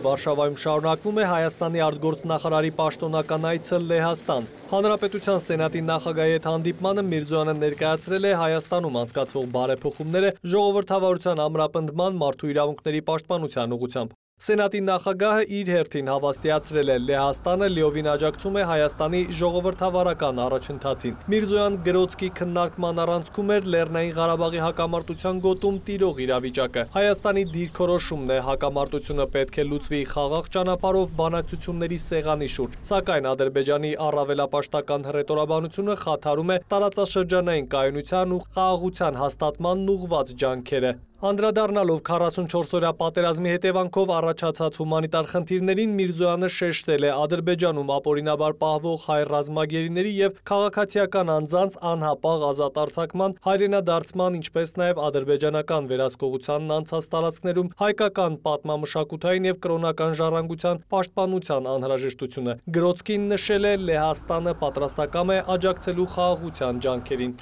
Վարշավայում շարունակվում է Հայաստանի արտգործնախարարի պաշտոնական այցը Լեհաստան։ Հանրապետության Սենատի նախագահի հետ հանդիպմանը Միրզոյանը ներկայացրել է Հայաստանում անցկացվող բարեփոխումները ժողովրդավարության ամրապնդման, մարդու իրավունքների պաշտպանության ուղղությամբ։ Սենատի նախագահը իր հերթին հավաստիացրել է Լեհաստանը լիովին աջակցում է Հայաստանի ժողովրդավարական առաջընթացին։ Միրզոյան գրոցքի քննարկման առանցքում էր Լեռնային Ղարաբաղի հակամարտության գոտում տիրող իրավիճակը։ Հայաստանի դիրքորոշումն է հակամարտությունը պետք է լուծվի խաղաղ ճանապարհով բանակցությունների սեղանի շուրջ, սակայն Ադրբեջանի առավելապաշտական հռետորաբանությունը խաթարում է տարածաշրջանային կայունության ու խաղաղության հաստատմանն ուղղված ջանքերը։ Անդրադառնալով 44-օրյա պատերազմի հետևանքով առաջացած հումանիտար խնդիրներին Միրզոյանը շեշտել է Ադրբեջանում ապօրինաբար պահվող հայ ռազմագերիների եւ քաղաքացիական անձանց անհապաղ ազատ արձակման, հայրենադարձման, ինչպես նաեւ ադրբեջանական վերահսկողությանն անցած տարածքներում հայկական պատմամշակութային եւ կրոնական ժառանգության պաշտպանության անհրաժեշտությունը։ Գրոցքին նշել է Լեհաստանը պատրաստակամ է աջակցելու խաղաղության ջանքերին։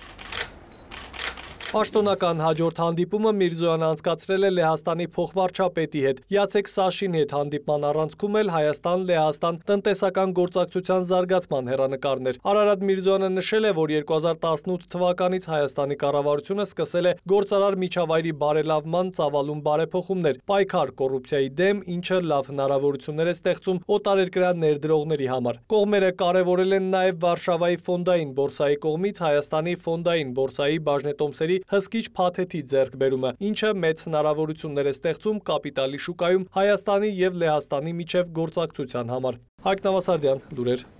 Պաշտոնական հաջորդ հանդիպումը Միրզոյանը անցկացրել է Լեհաստանի փոխվարչապետի հետ։ Յացեք Սաշինի հետ հանդիպման առանցքում էլ Հայաստան-Լեհաստան տնտեսական գործակցության զարգացման հեռանկարներ։ Արարատ Միրզոյանը նշել է, որ 2018 թվականից Հայաստանի կառավարությունը սկսել է գործարար միջավայրի բարելավման ծավալուն բարեփոխումներ, պայքար կոռուպցիայի դեմ, ինչը լավ հնարավորություններ է ստեղծում օտարերկրյա ներդրողների համար։ Կողմերը կարևորել են նաև Վարշավայի ֆոնդային բորսայի կողմից Հայաստանի ֆոնդային բորսայի բաժնետոմսերի հսկիչ փաթեթի ձեռքբերումը, ինչը մեծ հնարավորություններ է ստեղծում կապիտալի շուկայում Հայաստանի և Լեհաստանի միջև գործակցության համար։ Հայկ Նավասարդյան, լուրեր։